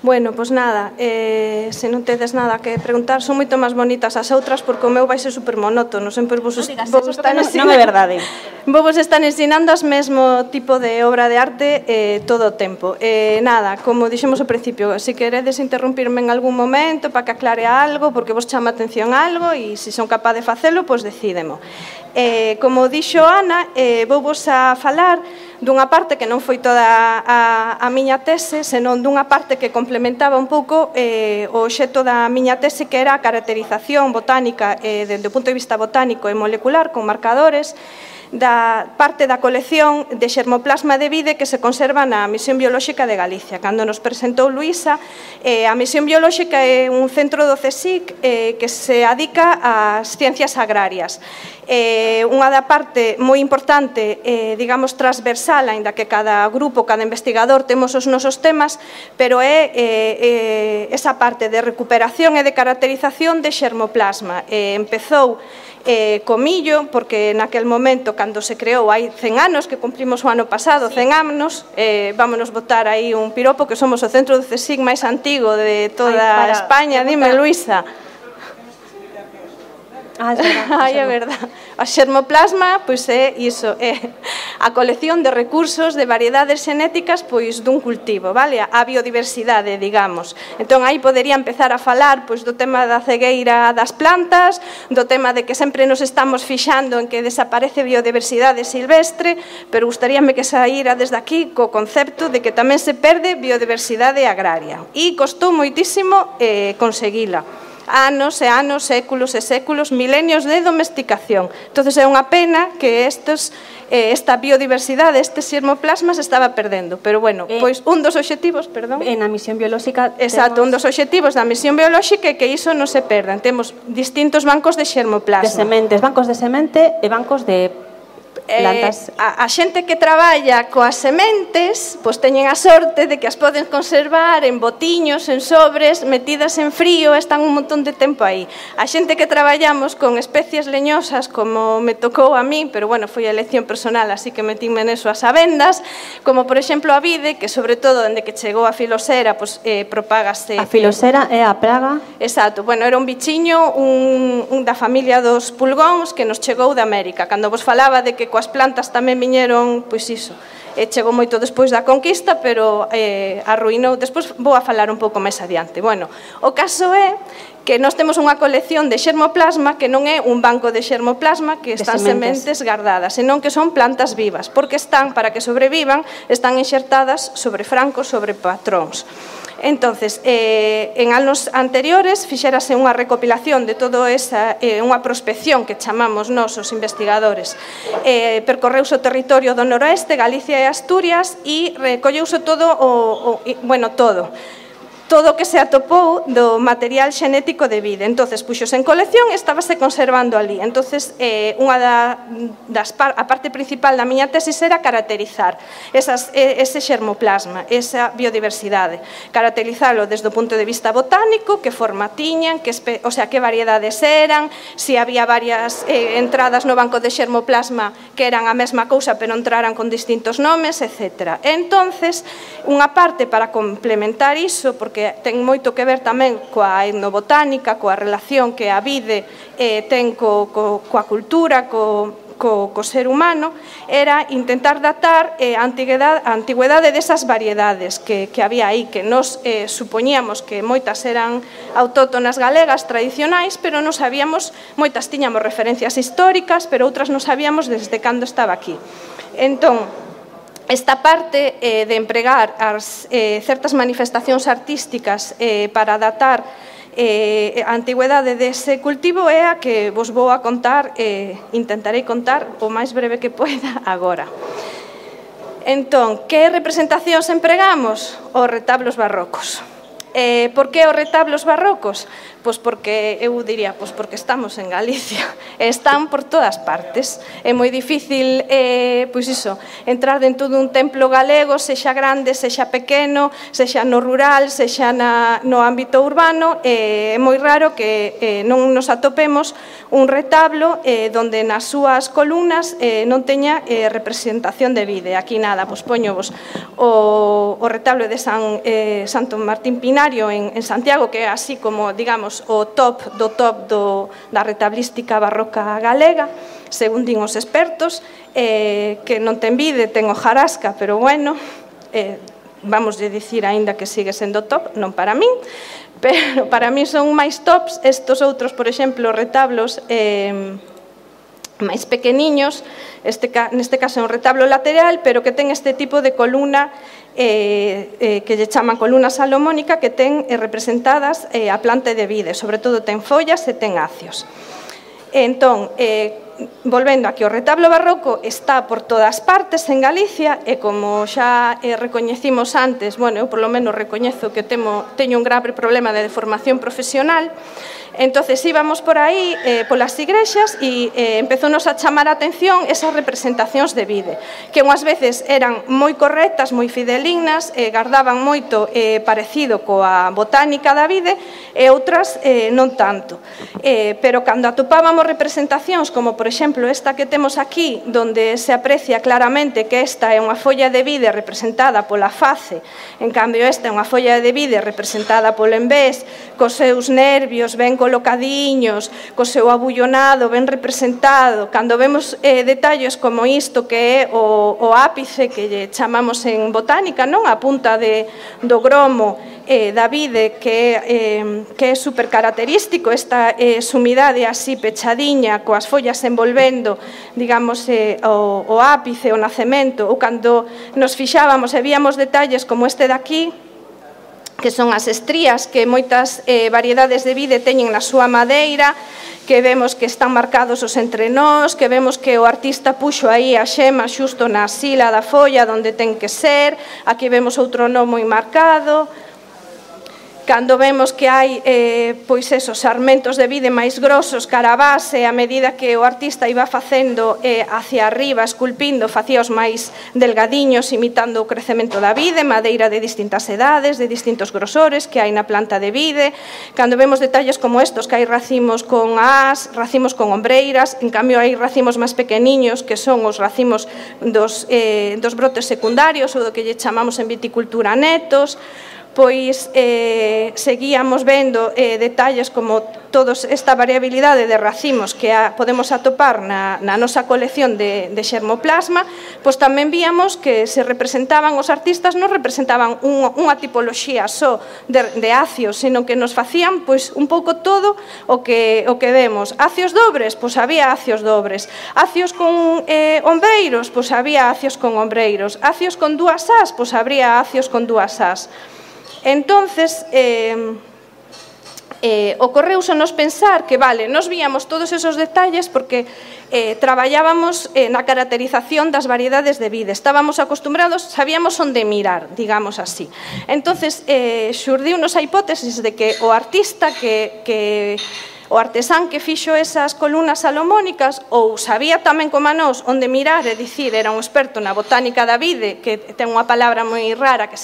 Bueno, pois nada, se non tedes nada que preguntar, son moito máis bonitas as outras porque o meu vai ser super monótono, sempre vos están ensinando. Non é verdade. Vos están ensinando as mesmo tipo de obra de arte todo o tempo. Nada, como dixemos ao principio, se queredes interrumpirme en algún momento para que aclare algo, porque vos chama a atención algo e se son capaz de facelo, pois decídemo. Como dixo Ana, vou vos a falar dunha parte que non foi toda a miña tese, senón dunha parte que complementaba un pouco o obxecto da miña tese, que era a caracterización botánica desde o punto de vista botánico e molecular con marcadores da parte da colección de xermoplasma de vide que se conserva na Misión Biolóxica de Galicia. Cando nos presentou Luísa, a Misión Biolóxica é un centro do CSIC que se adica ás ciencias agrarias. Unha da parte moi importante, digamos, transversal, aínda que cada grupo, cada investigador temos os nosos temas, pero é esa parte de recuperación e de caracterización de xermoplasma. Empezou co millo, porque naquel momento, cando se creou hai 100 anos, que cumprimos o ano pasado, 100 anos, vámonos botar aí un piropo, que somos o centro do CSIC máis antigo de toda España. Dime, Luísa. Ai, é verdad. A xermoplasma, pois é iso, é a colección de recursos de variedades xenéticas pois dun cultivo, vale? A biodiversidade, digamos. Entón, aí podería empezar a falar pois do tema da cegueira das plantas, do tema de que sempre nos estamos fixando en que desaparece biodiversidade silvestre, pero gustaríame que saíra desde aquí co concepto de que tamén se perde biodiversidade agraria. E costou moitísimo conseguila. Anos e anos, séculos e séculos, milenios de domesticación. Entón, é unha pena que esta biodiversidade, este xermoplasma se estaba perdendo. Pero, bueno, pois un dos obxectivos, perdón... En a misión biolóxica... Exacto, un dos obxectivos da misión biolóxica é que iso non se perdan. Temos distintos bancos de xermoplasma. De sementes, bancos de semente e bancos de... plantas. A xente que traballa coas sementes pois teñen a sorte de que as poden conservar en botiños, en sobres, metidas en frío, están un montón de tempo aí. A xente que traballamos con especies leñosas, como me tocou a mí, pero bueno, foi a elección personal, así que metíme neso as avendas, como por exemplo a vide, que sobre todo dende que chegou a filosera, pois propágase. A filosera é a praga? Exacto, bueno, era un bichiño da familia dos pulgóns que nos chegou de América. Cando vos falaba de que coas plantas tamén viñeron, pois iso, chegou moito despois da conquista, pero arruinou. Despois vou a falar un pouco máis adiante. Bueno, o caso é que nós temos unha colección de xermoplasma que non é un banco de xermoplasma que están sementes guardadas, senón que son plantas vivas, porque están, para que sobrevivan, están enxertadas sobre francos, sobre patróns. Entonces, en anos anteriores fixérase unha recopilación de todo esa, unha prospección que chamamos nós os investigadores. Percorreuse o territorio do noroeste, Galicia e Asturias, e recolleuse todo todo o que se atopou do material xenético de vide. Entonces, puxos en colección e estábase conservando ali. Entonces, a parte principal da miña tesis era caracterizar ese xermoplasma, esa biodiversidade. Caracterizalo desde o punto de vista botánico, que forma tiñan, que variedades eran, se había varias entradas no banco de xermoplasma que eran a mesma cousa, pero entraran con distintos nomes, etc. Entonces, unha parte para complementar iso, porque ten moito que ver tamén coa etnobotánica, coa relación que a vide ten coa cultura, co ser humano, era intentar datar a antigüedade desas variedades que había aí, que nos supoñíamos que moitas eran autóctonas galegas tradicionais, pero non sabíamos, moitas tiñamos referencias históricas, pero outras non sabíamos desde cando estaba aquí. Entón, esta parte de empregar certas manifestacións artísticas para datar a antigüedade dese cultivo é a que vos vou a contar, intentarei contar o máis breve que poida agora. Entón, que representacións empregamos? Os retablos barrocos. Por que os retablos barrocos? Pois porque, eu diría, pois porque estamos en Galicia, están por todas partes. É moi difícil, pois iso, entrar dentro dun templo galego, sexa grande, sexa pequeno, sexa no rural, sexa no ámbito urbano, é moi raro que non nos atopemos un retablo donde nas súas columnas non teña representación de vide. Aquí nada, pois poñovos o retablo de Santo Martín Pinario en Santiago, que é así como, digamos, o top da retablística barroca galega, según din os expertos, que non ten vide, ten hojarasca, pero bueno, vamos de dicir aínda que sigue sendo top, non para min, pero para mí son máis tops estos outros, por exemplo, retablos máis pequeniños, neste caso é un retablo lateral, pero que ten este tipo de columna que lle chaman columna salomónica, que ten representadas a planta de vide, sobre todo ten follas e ten acios. Entón, volvendo a que o retablo barroco está por todas partes en Galicia, e como xa recoñecimos antes, bueno, eu polo menos recoñezo que teño un grave problema de deformación profesional. Entonces íbamos por aí polas igrexas e empezounos a chamar a atención esas representacións de vide, que unhas veces eran moi correctas, moi fidelignas, gardaban moito parecido coa botánica da vide, e outras non tanto. Pero cando atopábamos representacións como, por exemplo, esta que temos aquí, donde se aprecia claramente que esta é unha folla de vide representada pola face, en cambio esta é unha folla de vide representada polo envés, cos seus nervios ben colocadiños, co seu abullonado ben representado. Cando vemos detalles como isto, que é o ápice que lle chamamos en botánica, non? A punta do gromo da vide, que é super característico, esta sumidade así pechadiña, coas follas envolvendo, digamos, o ápice, o nacemento, ou cando nos fixábamos e víamos detalles como este de aquí, que son as estrías que moitas variedades de vide teñen na súa madeira, que vemos que están marcados os entrenós, que vemos que o artista puxo aí a xema xusto na sila da folla onde ten que ser. Aquí vemos outro nó moi marcado. Cando vemos que hai pois esos sarmentos de vide máis grosos cara a base, a medida que o artista iba facendo hacia arriba, esculpindo, facíaos máis delgadiños, imitando o crecemento da vide, madeira de distintas edades, de distintos grosores que hai na planta de vide. Cando vemos detalles como estos, que hai racimos con ás, racimos con ombreiras, en cambio hai racimos máis pequeniños, que son os racimos dos brotes secundarios, ou do que lle chamamos en viticultura netos. Pois seguíamos vendo detalles como toda esta variabilidade de racimos que podemos atopar na nosa colección de xermoplasma. Pois tamén víamos que se representaban, os artistas non representaban unha tipoloxía só de acios, sino que nos facían pois un pouco todo o que vemos. Acios dobres, pois había acios dobres. Acios con ombreiros, pois había acios con ombreiros. Acios con dúas ás, pois habría acios con dúas ás. Entonces, ocorreusonos pensar que, vale, nos víamos todos esos detalles porque traballábamos na caracterización das variedades de vide, estábamos acostumbrados, sabíamos onde mirar, digamos así. Entonces, xurdiunos a hipótesis de que o artista o artesán que fixo esas columnas salomónicas ou sabía tamén como a nós onde mirar, é dicir, era un experto na botánica da vide, que ten unha palabra moi rara que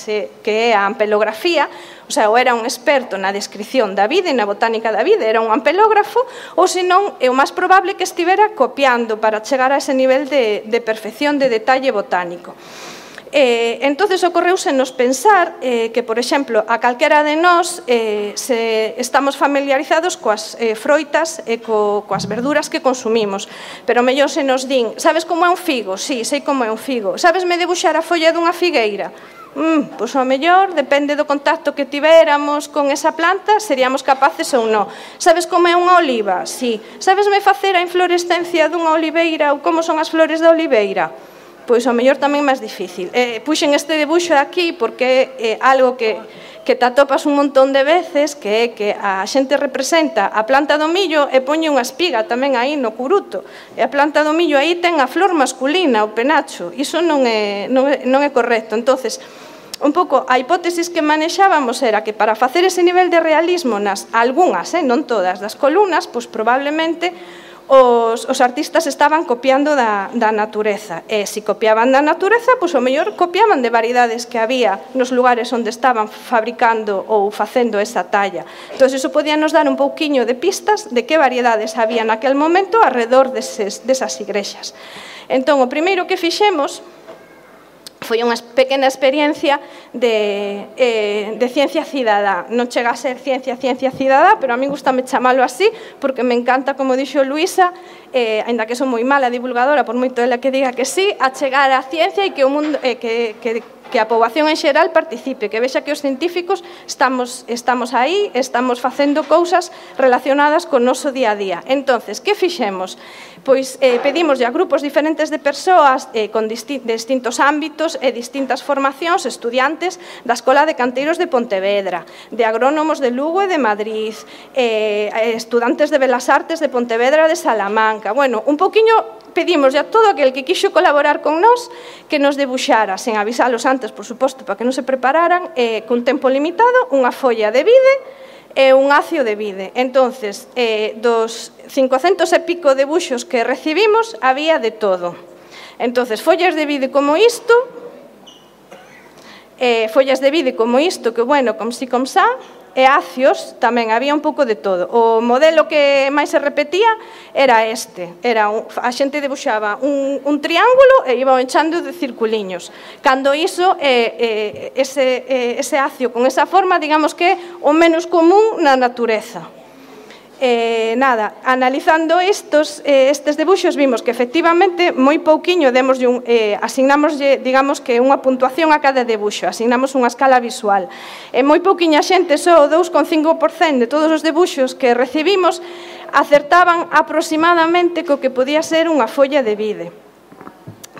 é a ampelografía, o sea, ou era un experto na descripción da vide, na botánica da vide, era un ampelógrafo, ou senón é o máis probable que estivera copiando para chegar a ese nivel de perfección de detalle botánico. Entonces ocorreúsenos pensar que, por exemplo, a calquera de nós estamos familiarizados coas froitas e coas verduras que consumimos, pero mellor se nos din, sabes como é un figo? Sí, sei como é un figo. Sabesme debuxar a folla dunha figueira? Pois ao mellor, depende do contacto que tivéramos con esa planta, seríamos capaces ou non. Sabes como é unha oliva? Sí. Sabesme facer a inflorescencia dunha oliveira ou como son as flores da oliveira? Pois ao mellor tamén máis difícil. Puxen este debuxo aquí porque é algo que te atopas un montón de veces, que é que a xente representa a planta do millo e poñe unha espiga tamén aí no curuto. E a planta do millo aí ten a flor masculina, o penacho. Iso non é correcto. Entonces, un pouco a hipótesis que manexábamos era que para facer ese nivel de realismo nas algunhas, non todas, das columnas, pois probablemente os artistas estaban copiando da natureza. E se copiaban da natureza, pois o mellor copiaban de variedades que había nos lugares onde estaban fabricando ou facendo esa talla. Entón, iso podía nos dar un pouquiño de pistas de que variedades había naquel momento alrededor desas igrexas. Entón, o primeiro que fixemos foi unha pequena experiencia de ciencia cidadá. Non chega a ser ciencia cidadá, pero a mí gustame chamalo así, porque me encanta, como dixo Luisa, aínda que son moi mala divulgadora, por moito ela que diga que sí, a chegar á ciencia e que o mundo que a poboación en xeral participe, que vexa que os científicos estamos aí, estamos facendo cousas relacionadas con o noso día a día. Entonces, que fixemos? Pois pedimos a grupos diferentes de persoas con distintos ámbitos e distintas formacións, estudiantes da Escola de Canteiros de Pontevedra, de agrónomos de Lugo e de Madrid, estudantes de Belas Artes de Pontevedra e de Salamanca. Bueno, un poquinho pedimos a todo aquel que quixo colaborar con nós que nos debuxara, sen avisalos antes, por suposto, para que non se prepararan, con tempo limitado, unha folla de vide e un acio de vide. Entonces, dos 500 e pico debuxos que recibimos, había de todo. Entonces, follas de vide como isto, que, bueno, com si com sa, e acios tamén, había un pouco de todo. O modelo que máis se repetía era este. A xente debuxaba un triángulo e iba enchando de circuliños. Cando iso, ese acio con esa forma, digamos que é o menos común na natureza. Nada, analizando estes debuxos vimos que efectivamente moi pouquiño asignamoslle, digamos que unha puntuación a cada debuxo, asignamos unha escala visual. Moi pouquiña xente, só o 2,5% de todos os debuxos que recibimos acertaban aproximadamente co que podía ser unha folla de vide.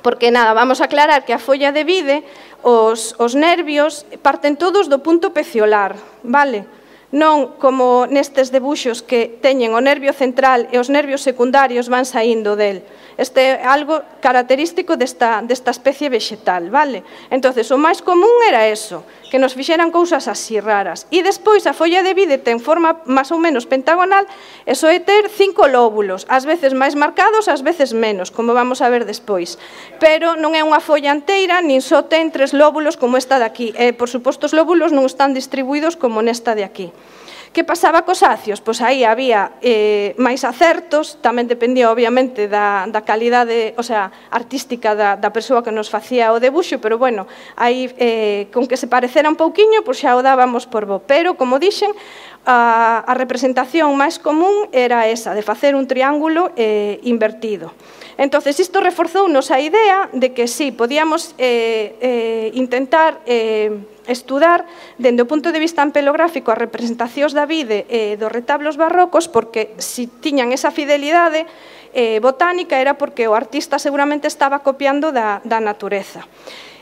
Porque nada, vamos a aclarar que a folla de vide, os nervios parten todos do punto peciolar, vale? Non como nestes debuxos que teñen o nervio central e os nervios secundarios van saindo del. Este é algo característico desta especie vegetal, vale? Entonces, o máis común era eso, que nos fixeran cousas así raras. E despois a folla de vide ten forma máis ou menos pentagonal e soe ter 5 lóbulos, ás veces máis marcados, ás veces menos, como vamos a ver despois. Pero non é unha folla inteira, nin só ten 3 lóbulos como esta de aquí. E, por suposto, os lóbulos non están distribuídos como nesta de aquí. Que pasaba cos acios? Pois aí había máis acertos, tamén dependía obviamente da calidade, o sea, artística da persoa que nos facía o debuxo, pero bueno, aí con que se parecera un pouquiño, pois xa o dábamos por bo. Pero, como dixen, a representación máis común era esa, de facer un triángulo invertido. Entonces, isto reforzounos a idea de que sí, podíamos intentar estudar, dende o punto de vista ampelográfico, as representacións da vide e dos retablos barrocos, porque se tiñan esa fidelidade botánica era porque o artista seguramente estaba copiando da natureza.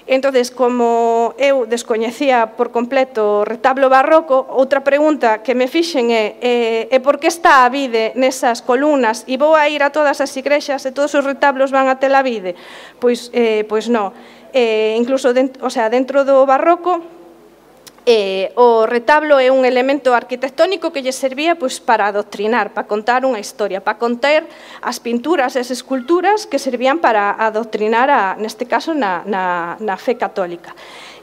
Entonces, como eu descoñecía por completo o retablo barroco, outra pregunta que me fixen é por que está a vide nesas columnas e vou a ir a todas as igrexas e todos os retablos van a ter a vide? Pois non. Incluso dentro do barroco, o retablo é un elemento arquitectónico que lle servía para adoctrinar, para contar unha historia, para conter as pinturas e as esculturas que servían para adoctrinar, neste caso, na fe católica.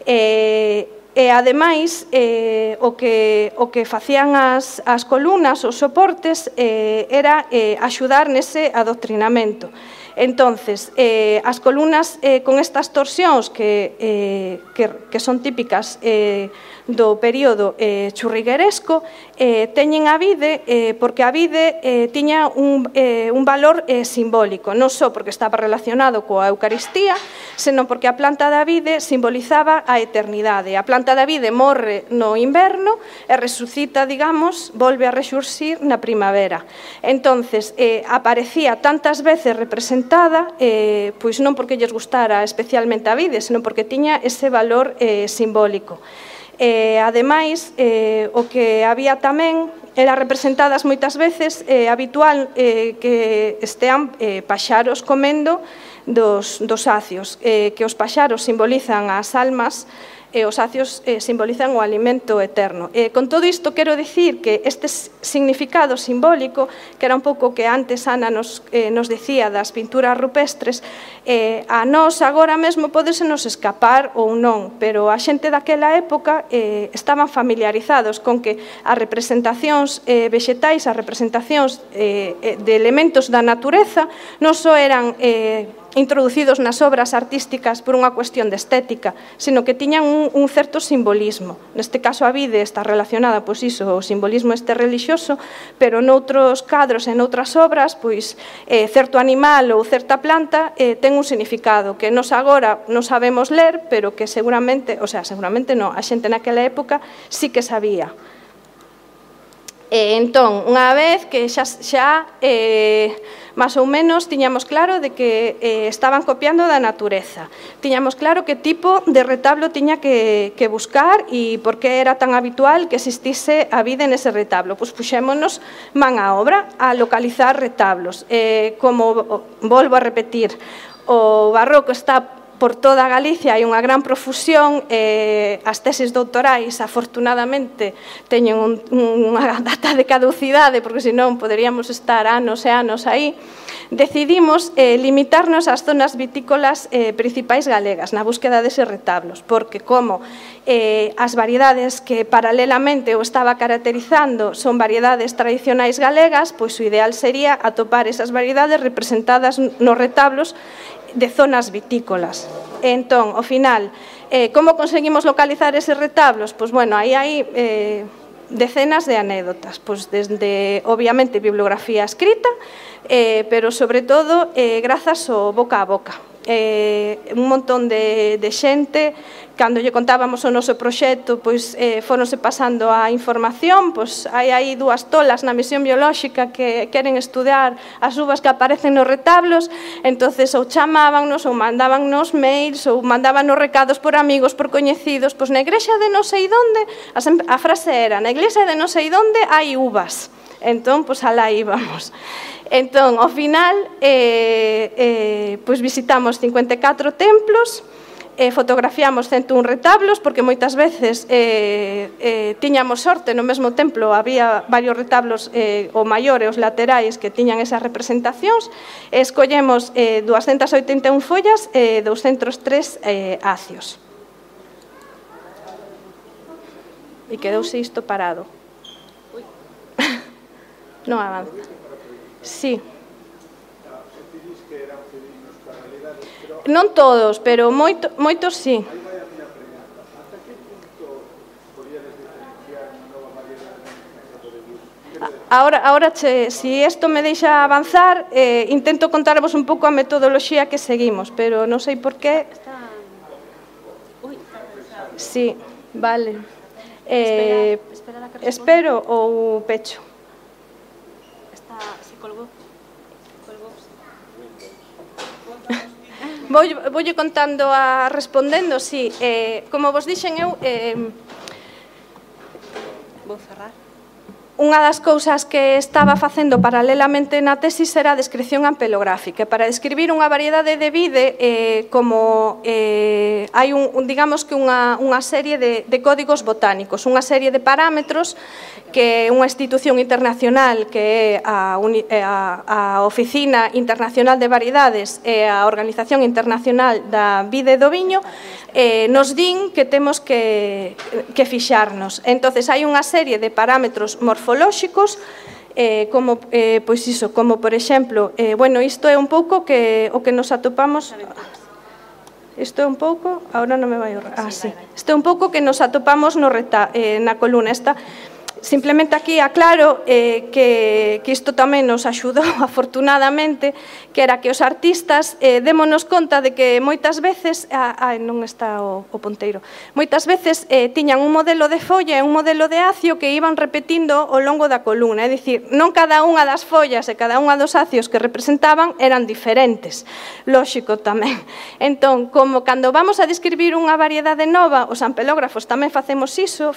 E ademais, o que facían as columnas, os soportes, era axudar nese adoctrinamento. Entonces, as columnas con estas torsións que son típicas do período churrigueresco teñen a vide porque a vide tiña un valor simbólico, non só porque estaba relacionado coa Eucaristía, senón porque a planta da vide simbolizaba a eternidade. A planta da vide morre no inverno e resucita, digamos, volve a rexurxir na primavera. Entonces, aparecía tantas veces representada, pois non porque lles gustara especialmente a vide, senón porque tiña ese valor simbólico. Ademais, o que había tamén era representadas moitas veces habitual que estean paxaros comendo dos acios, que os paxaros simbolizan as almas e os acios simbolizan o alimento eterno. Con todo isto, quero dicir que este significado simbólico, que era un pouco que antes Ana nos decía das pinturas rupestres, a nós agora mesmo podesenos escapar ou non, pero a xente daquela época estaban familiarizados con que as representacións vexetais, as representacións de elementos da natureza, non só eran introducidos nas obras artísticas por unha cuestión de estética, sino que tiñan un certo simbolismo. Neste caso a vide está relacionada, pois iso, o simbolismo este relixioso, pero noutros cadros e noutras obras, pois certo animal ou certa planta ten un significado que nos agora non sabemos ler, pero que seguramente, o sea, seguramente non, a xente naquela época sí que sabía. Entón, unha vez que xa máis ou menos tiñamos claro de que estaban copiando da natureza, tiñamos claro que tipo de retablo tiña que buscar e por que era tan habitual que existise a vida nese retablo. Pois puxémonos man á obra a localizar retablos. Como volvo a repetir, o barroco está por toda Galicia, hai unha gran profusión, as tesis doutorais afortunadamente teñen unha data de caducidade, porque senón poderíamos estar anos e anos aí. Decidimos limitarnos ás zonas vitícolas principais galegas na búsqueda deses retablos, porque como as variedades que paralelamente o estaba caracterizando son variedades tradicionais galegas, pois o ideal sería atopar esas variedades representadas nos retablos de zonas vitícolas. Entón, ao final, como conseguimos localizar eses retablos? Pois, bueno, aí hai decenas de anécdotas, pois desde, obviamente, bibliografía escrita, pero, sobre todo, grazas ao boca a boca. Un montón de xente, cando lle contábamos o noso proxecto, pois foronse pasando a información, pois hai aí dúas tolas na misión biolóxica que queren estudar as uvas que aparecen nos retablos, entonces ou chamábannos, ou mandábannos mails, ou mandábanos recados por amigos, por coñecidos, pois na igrexa de non sei onde, a frase era, na iglesia de non sei onde hai uvas, entón, pois alá íbamos. Entón, ao final, pois visitamos 54 templos, fotografiamos 101 retablos, porque moitas veces tiñamos sorte, no mesmo templo había varios retablos, o maior e os laterais que tiñan esas representacións, escollemos 281 follas e 203 acios. E quedouse isto parado. Non avanza. Sí. Non todos, pero moitos sí. Ahora, se isto me deixa avanzar, intento contarvos un pouco a metodoloxía que seguimos, pero non sei por qué. Sí, vale. Espero ou pecho. Voulle contando respondendo, sí. Como vos dixen eu, vou cerrar. Unha das cousas que estaba facendo paralelamente na tesis era a descripción ampelográfica. Para describir unha variedade de vide, como hai digamos que unha serie de códigos botánicos, unha serie de parámetros que unha institución internacional que é a Oficina Internacional de Variedades e a Organización Internacional da Vide e do Viño nos din que temos que fixarnos. Entonces, hai unha serie de parámetros morfolóxicos como, pois iso, como por exemplo, bueno, isto é un pouco o que nos atopamos. Isto é un pouco, agora non me vai sí. Isto é un pouco que nos atopamos na columna esta. Simplemente aquí aclaro que isto tamén nos axudou afortunadamente, que era que os artistas démonos conta de que moitas veces, non está o ponteiro, moitas veces tiñan un modelo de folla e un modelo de acio que iban repetindo ao longo da columna, é dicir, non cada unha das follas e cada unha dos acios que representaban eran diferentes, lóxico tamén. Entón, como cando vamos a describir unha variedade nova, os ampelógrafos tamén facemos iso,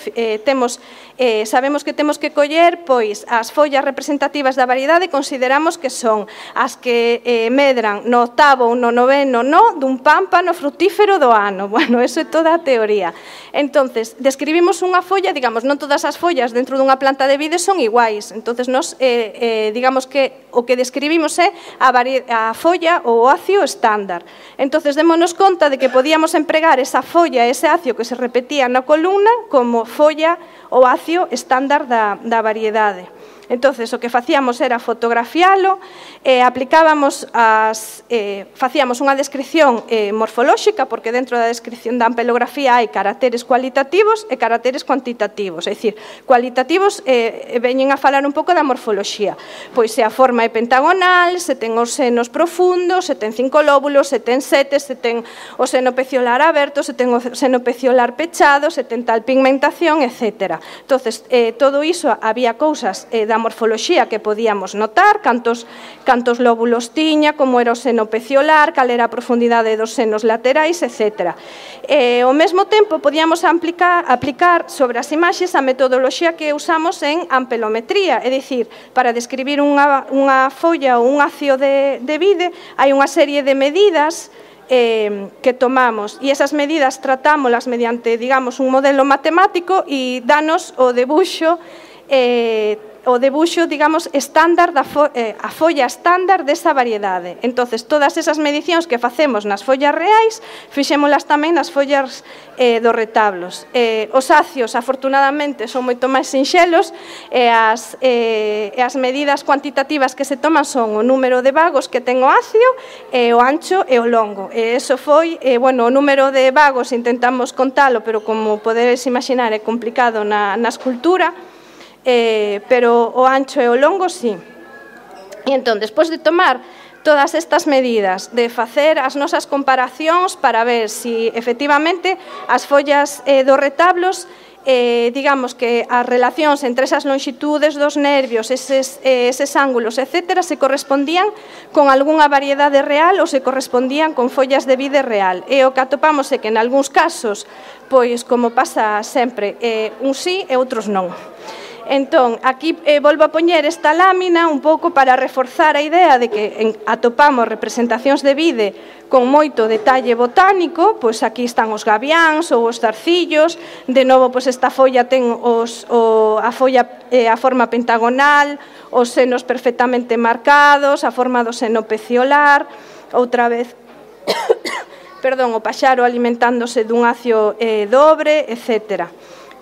sabemos dicimos que temos que coller pois as follas representativas da variedade, consideramos que son as que medran no 8º ou no 9º dun pámpano frutífero do ano. Bueno, eso é toda a teoría. Entonces, describimos unha folla, digamos, non todas as follas dentro dunha planta de vide son iguais. Entonces, nos digamos que o que describimos é a folla ou oacio estándar. Entonces, démonos conta de que podíamos empregar esa folla, ese acio que se repetía na columna como folla ou acio estándar da variedade. Entonces, o que facíamos era fotografiálo, facíamos unha descripción morfolóxica, porque dentro da descripción da ampelografía hai caracteres cualitativos e caracteres cuantitativos, é dicir, cualitativos veñen a falar un pouco da morfoloxía, pois se a forma é pentagonal, se ten os senos profundos, se ten 5 lóbulos, se ten 7, se ten o seno peciolar aberto, se ten o seno peciolar pechado, se ten tal pigmentación, etc. Entonces, todo iso, había cousas da morfoloxía que podíamos notar, cantos lóbulos tiña, como era o seno peciolar, cal era a profundidade dos senos laterais, etc. Ao mesmo tempo, podíamos aplicar sobre as imaxes a metodoloxía que usamos en ampelometría, é dicir, para describir unha folla ou un acio de vide, hai unha serie de medidas que tomamos, e esas medidas tratámolas mediante, digamos, un modelo matemático e danos o debuxo, digamos, estándar a folla estándar desa variedade. Entonces, todas esas medicións que facemos nas follas reais, fixémolas tamén nas follas dos retablos. Os acios, afortunadamente, son moito máis sinxelos, e as medidas cuantitativas que se toman son o número de vagos que ten o acio, o ancho e o longo. E eso foi, bueno, o número de vagos intentamos contalo, pero como podedes imaginar é complicado na escultura, pero o ancho e o longo, sí. E entón, despois de tomar todas estas medidas, de facer as nosas comparacións para ver se efectivamente as follas dos retablos, digamos que as relacións entre esas longitudes dos nervios, eses ángulos, etc., se correspondían con algunha variedade real ou se correspondían con follas de vide real. E o que atopamos é que, en algúns casos, pois, como pasa sempre, uns sí e outros non. Entón, aquí volvo a poñer esta lámina un pouco para reforzar a idea de que atopamos representacións de vide con moito detalle botánico, pois aquí están os gaviáns ou os zarcillos, de novo, pois esta folla ten a forma pentagonal, os senos perfectamente marcados, a forma do seno peciolar, outra vez, perdón, o paxaro alimentándose dun acio dobre, etc.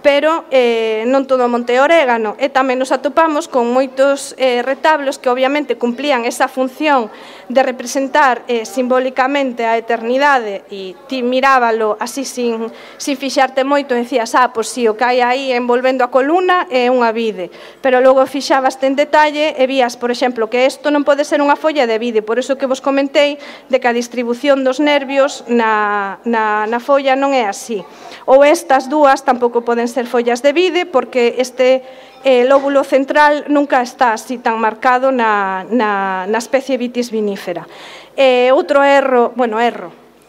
Pero non todo monte orégano, e tamén nos atopamos con moitos retablos que obviamente cumplían esa función de representar simbólicamente a eternidade, e ti mirábalo así sin fixarte moito e decías, pois si, o que hai aí envolvendo a columna é unha vide, pero logo fixabaste en detalle e vías, por exemplo, que isto non pode ser unha folla de vide, por iso que vos comentei de que a distribución dos nervios na folla non é así, ou estas dúas tampouco poden ser follas de vide, porque este lóbulo central nunca está así tan marcado na especie Vitis vinífera. Outro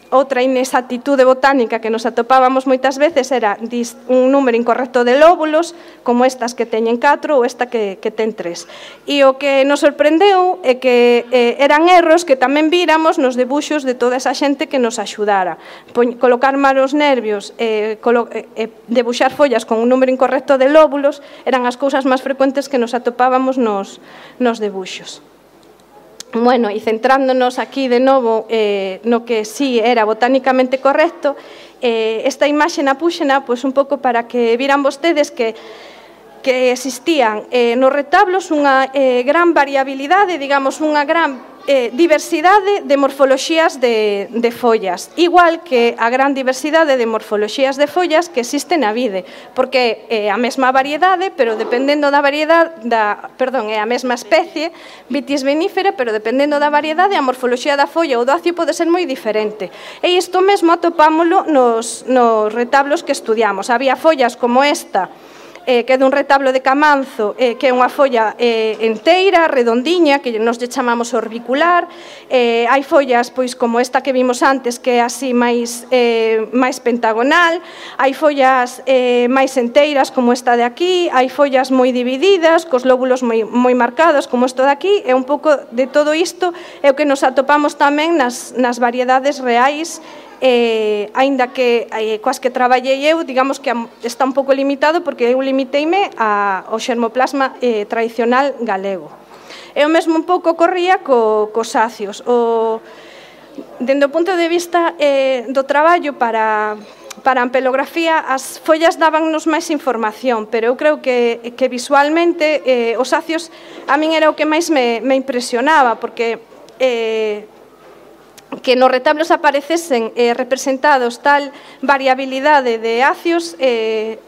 outra inexactitude botánica que nos atopábamos moitas veces era un número incorrecto de lóbulos, como estas que teñen 4 ou esta que ten 3. E o que nos sorprendeu é que eran erros que tamén víramos nos debuxos de toda esa xente que nos axudara. Colocar mal os nervios, debuxar follas con un número incorrecto de lóbulos, eran as cousas máis frecuentes que nos atopábamos nos debuxos. Bueno, e centrándonos aquí de novo no que sí era botánicamente correcto, esta imaxe na puxena un pouco para que viran vostedes que existían nos retablos unha gran variabilidade, digamos, unha gran diversidade de morfoloxías de follas, igual que a gran diversidade de morfoloxías de follas que existe na vide, porque é a mesma variedade, pero dependendo da variedade, é a mesma especie, Vitis vinífera, pero dependendo da variedade, a morfoloxía da folla ou do acio pode ser moi diferente. E isto mesmo atopámolo nos retablos que estudiamos. Había follas como esta, que é dun retablo de Camanzo, que é unha folla enteira, redondiña, que nos lle chamamos orbicular. Hai follas pois como esta que vimos antes, que é así máis pentagonal. Hai follas máis enteiras, como esta de aquí. Hai follas moi divididas, cos lóbulos moi marcados, como isto de aquí. E un pouco de todo isto é o que nos atopamos tamén nas variedades reais, aínda que coas que traballei eu, digamos que está un pouco limitado, porque eu limiteime ao xermoplasma tradicional galego. E o mesmo un pouco corría cos ácios. Dende o punto de vista do traballo para a ampelografía, as follas dábannos máis información, pero eu creo que visualmente os ácios a min era o que máis me impresionaba, porque que nos retablos aparecesen representados tal variabilidade de ácios,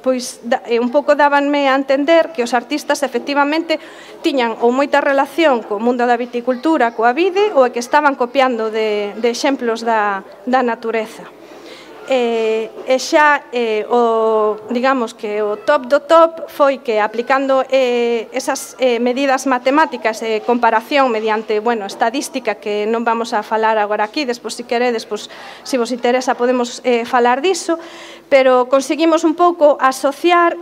pois un pouco dábanme a entender que os artistas efectivamente tiñan ou moita relación co mundo da viticultura, coa vide, ou que estaban copiando de exemplos da natureza. E xa, digamos que o top do top foi que aplicando esas medidas matemáticas e comparación mediante, estadística, que non vamos a falar agora aquí, despois se queredes, se vos interesa podemos falar diso, pero conseguimos un pouco asociar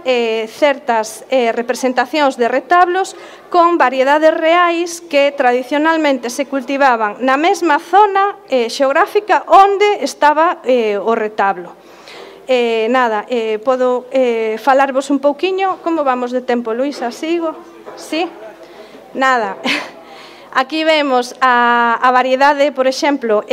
certas representacións de retablos con variedades reais que tradicionalmente se cultivaban na mesma zona xeográfica onde estaba o retablo. Podo falarvos un pouquiño. Como vamos de tempo, Luisa? Sigo? Sí? Nada. Aquí vemos a variedade, por exemplo,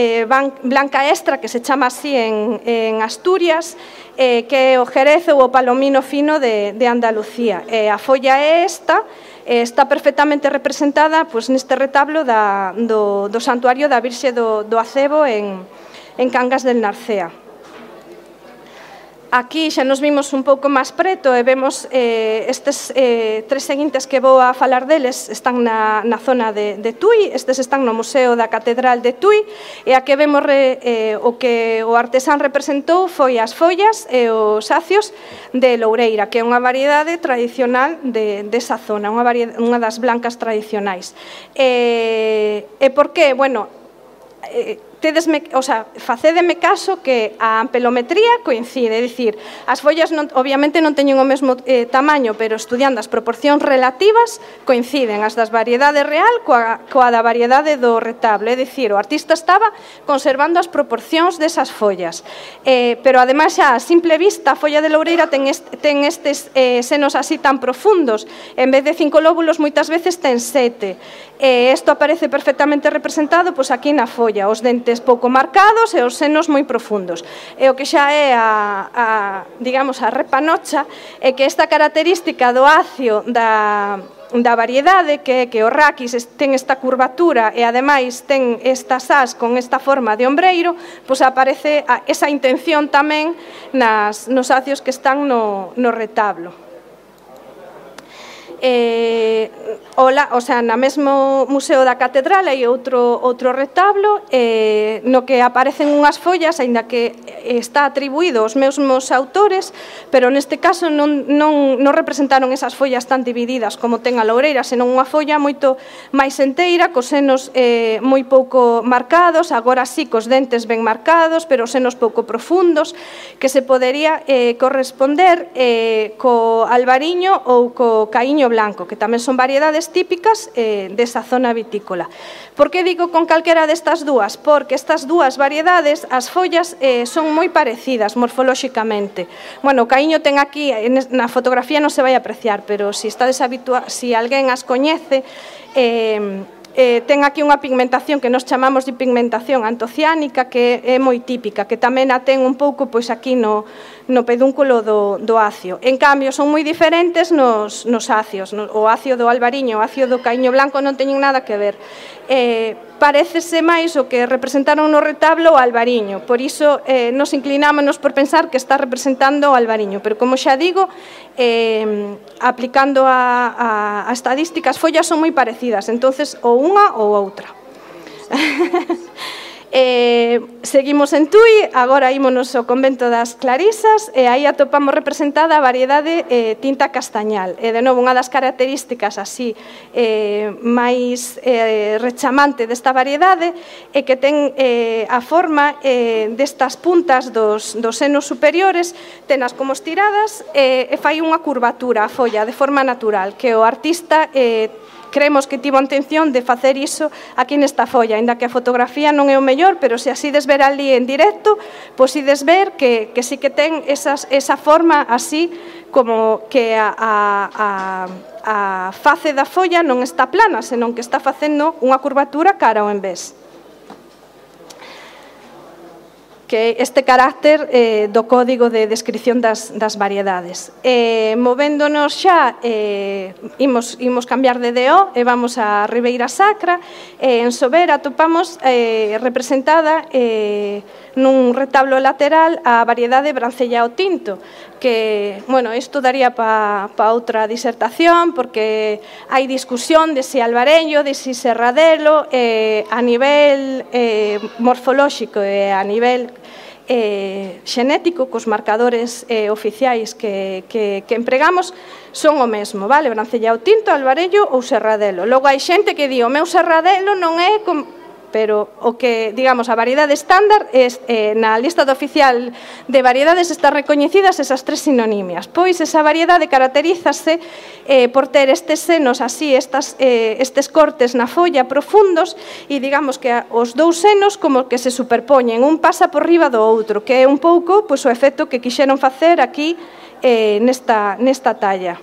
blanca extra, que se chama así en Asturias, que é o Jerez ou o palomino fino de Andalucía. A folla é esta, está perfectamente representada neste retablo do santuario da Virxe do Acebo en Cangas del Narcea. Aquí xa nos vimos un pouco máis preto e vemos estes tres seguintes que vou a falar deles están na zona de Tui. Estes están no Museo da Catedral de Tui, e a que vemos o que o artesán representou foi as follas e os ácios de Loureira, que é unha variedade tradicional desa zona, unha das blancas tradicionais. E por que? Facédeme caso que a ampelometría coincide, é dicir, as follas obviamente non teñen o mesmo tamaño, pero estudiando as proporcións relativas coinciden as das variedade real coa da variedade do retablo, é dicir, o artista estaba conservando as proporcións desas follas, pero ademais xa a simple vista a folla de Loureira ten estes senos así tan profundos, en vez de 5 lóbulos moitas veces ten 7, e isto aparece perfectamente representado aquí na folla, os dentes pouco marcados e os senos moi profundos. E o que xa é digamos, a repanocha é que esta característica do ácio da variedade, que é que o raquis ten esta curvatura e ademais ten estas ás con esta forma de ombreiro, aparece esa intención tamén nos ácios que están no retablo. Na mesmo Museo da Catedral hai outro retablo no que aparecen unhas follas, aínda que está atribuído aos mesmos autores, pero neste caso non representaron esas follas tan divididas como ten a Loureira, senón unha folla moito máis enteira, cos senos moi pouco marcados, agora sí cos dentes ben marcados, pero os senos pouco profundos, que se podería corresponder co albariño ou co caíño blanco, que tamén son variedades típicas desa zona vitícola. Por que digo con calquera destas dúas? Porque estas dúas variedades, as follas son moi parecidas morfolóxicamente. O caíño ten aquí, na fotografía non se vai apreciar, pero se alguén as coñece, ten aquí unha pigmentación que nos chamamos de pigmentación antociánica, que é moi típica, que tamén a ten un pouco aquí no pedúnculo do ácio. En cambio, son moi diferentes nos ácios. O ácio do albariño e o ácio do caíño blanco non teñen nada que ver. Parécese máis o que representaron no retablo o albariño, por iso nos inclinámonos por pensar que está representando o albariño, pero como xa digo, aplicando a estadística, as follas son moi parecidas, entonces ou unha ou outra. Seguimos en Tui, agora ímonos ao convento das Clarisas e aí atopamos representada a variedade tinta castañal. E de novo, unha das características así máis rechamante desta variedade é que ten a forma destas puntas dos senos superiores, tenas como estiradas e fai unha curvatura a folla de forma natural, que o artista creemos que tivo a intención de facer iso aquí nesta folla, ainda que a fotografía non é o mellor, pero se así des ver ali en directo, pois ides ver que sí que ten esa forma así como que a face da folla non está plana, senón que está facendo unha curvatura cara ao envés. Que este carácter do código de descripción das variedades. Movéndonos xa, imos cambiar de DO e vamos a Ribeira Sacra. En Sober atopamos representada nun retablo lateral a variedade Brancellao tinto, que, bueno, isto daría para outra disertación, porque hai discusión de se albarello, de se serradelo, a nivel morfolóxico e a nivel xenético, cos marcadores oficiais que empregamos, son o mesmo, vale? Brancellao tinto, albarello ou serradelo. Logo hai xente que di, o meu serradelo non é pero o que, digamos, a variedade estándar na lista oficial de variedades están recoñecidas esas tres sinonimias. Pois esa variedade caracterízase por ter estes senos así, estes cortes na folla profundos e digamos que os dous senos como que se superpoñen, un pasa por riba do outro, que é un pouco o efecto que quixeron facer aquí nesta talla.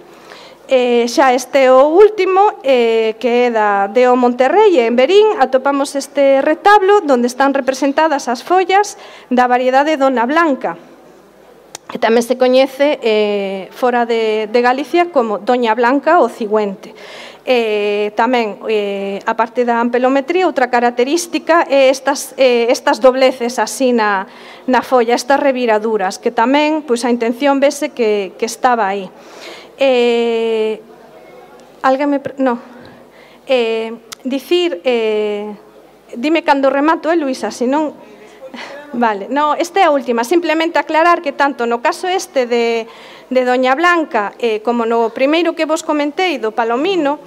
Xa este o último, que é de O Monterrey, en Berín, atopamos este retablo onde están representadas as follas da variedade Dona Blanca, que tamén se coñece fora de Galicia como Doña Blanca ou Cigüente. Tamén, a parte da ampelometría, outra característica é estas dobleces así na folla, estas reviraduras, que tamén a intención vese que estaba aí. Dicir, dime cando remato, Luisa, senón... Vale, no, esta é a última, simplemente aclarar que tanto no caso este de Doña Blanca como no primeiro que vos comentei do Palomino,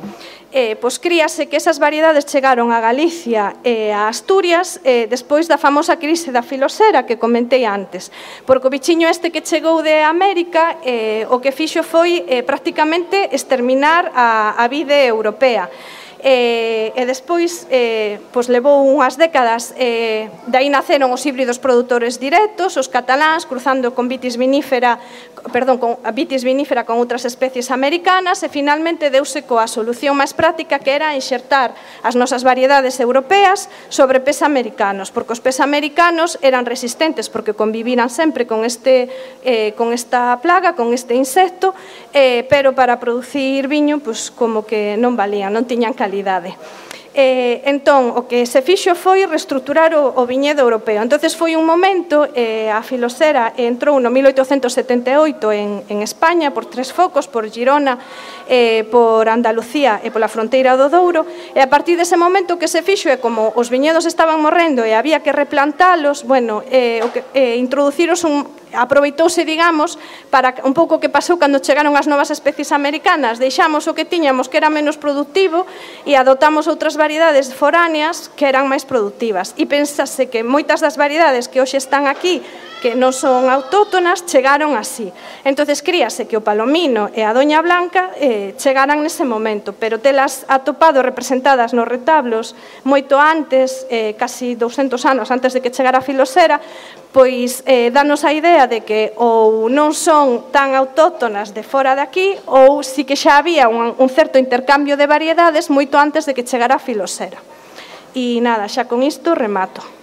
pois críase que esas variedades chegaron a Galicia e a Asturias despois da famosa crise da filosera que comentei antes, porque o bichiño este que chegou de América o que fixo foi prácticamente exterminar a vide europea. E despois levou unhas décadas, dai naceron os híbridos produtores directos, os cataláns cruzando con vitis vinífera con outras especies americanas e finalmente deuse coa solución máis práctica que era enxertar as nosas variedades europeas sobre pés americanos, porque os pés americanos eran resistentes porque conviviran sempre con esta plaga, con este insecto, pero para producir viño como que non valían, non tiñan calidade. Entón, o que se fixo foi reestructurar o viñedo europeo. Entonces foi un momento, a filosera entrou no 1878 en España por 3 focos, por Girona, por Andalucía e pola fronteira do Douro, e a partir dese momento o que se fixo é como os viñedos estaban morrendo e había que replantalos, bueno, introduciros aproveitouse, digamos, para un pouco que pasou cando chegaron as novas especies americanas, deixamos o que tiñamos que era menos productivo e adoptamos outras variedades foráneas que eran máis productivas. E pensase que moitas das variedades que hoxe están aquí, que non son autóctonas, chegaron así. Entonces críase que o Palomino e a Doña Blanca chegaran nese momento, pero telas atopado representadas nos retablos moito antes, casi 200 anos antes de que chegara a filosera, pois danos a idea de que ou non son tan autóctonas de fora de aquí ou si que xa había un certo intercambio de variedades moito antes de que chegara a filosera. E nada, xa con isto remato.